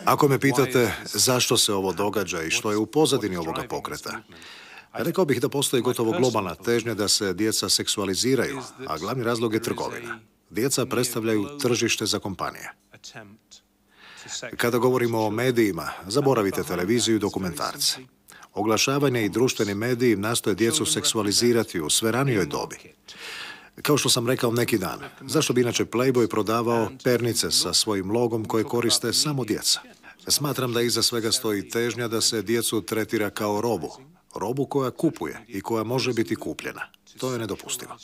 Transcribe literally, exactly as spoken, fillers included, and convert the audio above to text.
Ako me pitate zašto se ovo događa i što je u pozadini ovoga pokreta, rekao bih da postoji gotovo globalna težnja da se djeca seksualiziraju, a glavni razlog je trgovina. Djeca predstavljaju tržište za kompanije. Kada govorimo o medijima, zaboravite televiziju i dokumentarce. Oglašavanje i društveni mediji nastoje djecu seksualizirati u sve ranijoj dobi. Kao što sam rekao neki dan, zašto bi inače Playboy prodavao pernice sa svojim logom koje koriste samo djeca? Smatram da iza svega stoji težnja da se djecu tretira kao robu. Robu koja kupuje i koja može biti kupljena. To je nedopustivo.